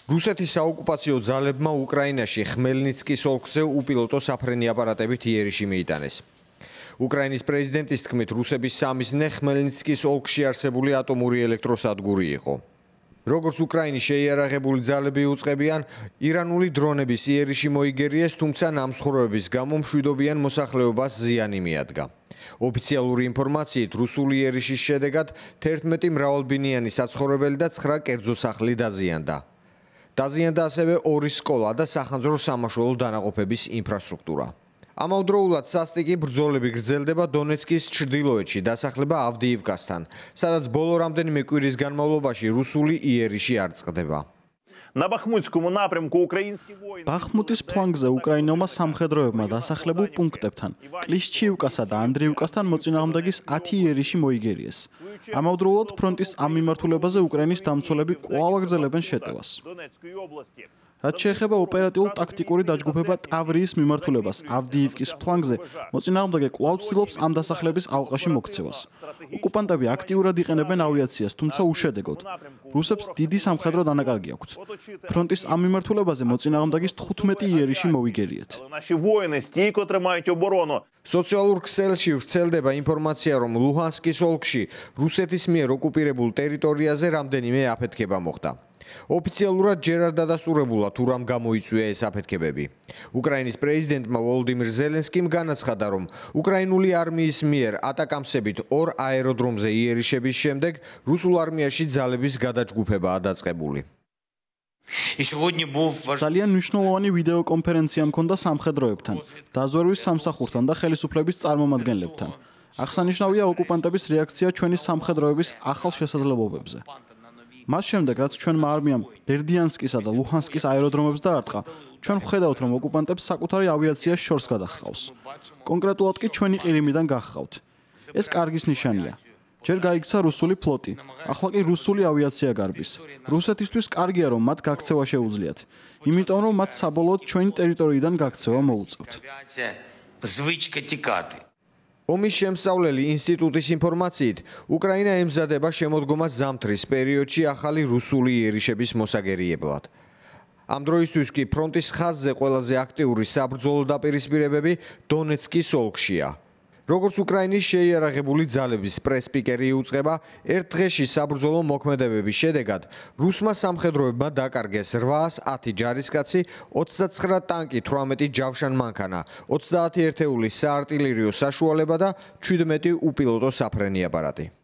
რუსეთის საოკუპაციო ძალებმა უკრაინაში ხმელნიცკის ოლქზე უპილოტო საფრენი აპარატებით იერიში მიიტანეს. უკრაინის პრეზიდენტის თქმით, რუსების სამიზნე ხმელნიცკის ოლქში არსებული ატომური ელექტროსადგური იყო. როგორც უკრაინის შეიარაღებული ძალები უწყებიან, ირანული დრონების იერიში მოიგერიეს, თუმცა ნამსხვრევების გამო მშვიდობიან მოსახლეობას ზიანი მიადგა. ოფიციალური ინფორმაციით, რუსული იერიშის შედეგად 11 მრავალბინიანი საცხოვრებელი და 9 კერძო სახლი დაზიანდა. დაზიანდა ასევე 2 სკოლა და სახანძრო სამაშველო დანაყოფების ინფრასტრუქტურა. ამავდროულად სასტიკი ბრძოლები გრძელდება დონეცკის ჩრდილოეთში, დასახლება ავდიივკასთან, სადაც ბოლო რამდენიმე კვირის განმავლობაში რუსული იერიში არ წყდება. ბახმუტის ფლანგზე უკრაინელმა სამხედროებმა დასახლებულ პუნქტებთან, კლიშჩიივკასა და ანდრიივკასთან მოწინააღმდეგის 10 იერიში მოიგერიეს. ამავდროულად ფრონტის ამ მიმართულებაზე უკრაინის დამცველები კვლავ აგრძელებენ შეტევას. რაც შეეხება ოპერატიულ-ტაქტიკური დაჯგუფება ტავრიის მიმართულებას ავდიივკის ფლანგზე, მოწინააღმდეგე კვლავ ცდილობს ამ დასახლების ალყაში მოქცევას. ოკუპანტები აქტიურად იყენებენ ავიაციას, თუმცა უშედეგოდ. რუსებს დიდი სამხედრო დანაკარგი აქვთ. ფრონტის ამ მიმართულებაზე მოწინააღმდეგის 15 იერიში მოიგერიეთ. სოციალურ ქსელში ვრცელდება ინფორმაცია, რომ ლუჰანსკის ოლქში რუსეთის მიერ ოკუპირებულ ტერიტორიაზე რამდენიმე აფეთქება მოხდა. ოფიციალურად ჯერ არ დადასტურებულა, თუ რამ გამოიწვია ეს აფეთქებები. უკრაინის პრეზიდენტმა ვოლოდიმირ ზელენსკიმ განაცხადა, რომ უკრაინული არმიის მიერ ატაკამსებით 2 აეროდრომზე იერიშების შემდეგ რუსულ არმიაში ძალების გადაჯგუფებაა დაწყებული. ძალიან მნიშვნელოვანი ვიდეოკონფერენცია მქონდა სამხედროებთან, დაზვერვის სამსახურთან და ხელისუფლების წარმომადგენლებთან. აღსანიშნავია ოკუპანტების რეაქცია ჩვენი სამხედროების ახალ შესაძლებლობებზე. მას შემდეგ, რაც ჩვენმა არმიამ ბერდიანსკისა და ლუჰანსკის აეროდრომებს დაარტყა, ჩვენ ვხედავთ, რომ ოკუპანტებს საკუთარი ავიაცია შორს გადაჰყავს. კონკრეტულად კი ჩვენი ყირიმიდან გახყავთ. ეს კარგის ნიშანია. ჯერ გაიქცა რუსული ფლოტი, ახლა კი რუსული ავიაცია გარბის. რუსეთისთვის კარგია, რომ მათ გაქცევა შეუძლიათ, იმიტომ რომ მათ საბოლოოდ ჩვენი ტერიტორიიდან გაქცევა მოუწევთ. ომის შემსწავლელი ინსტიტუტის ინფორმაციით, უკრაინა ემზადება შემოდგომას ზამთრის პერიოდში ახალი რუსული იერიშების მოსაგერიებლად. ამ დროისთვის კი ფრონტის ხაზზე ყველაზე აქტიური საბრძოლო დაპირისპირებები დონეცკის ოლქშია. როგორც უკრაინის შეიარაღებული ძალების პრეს-სპიკერი იუწყება, ერთ დღეში საბრძოლო მოქმედებების შედეგად რუსმა სამხედროებმა დაკარგეს 810 ჯარისკაცი, 29 ტანკი, 18 ჯავშან-მანქანა, 30 ერთეული საარტილერიო საშუალება და 17 უპილოტო საფრენი აპარატი.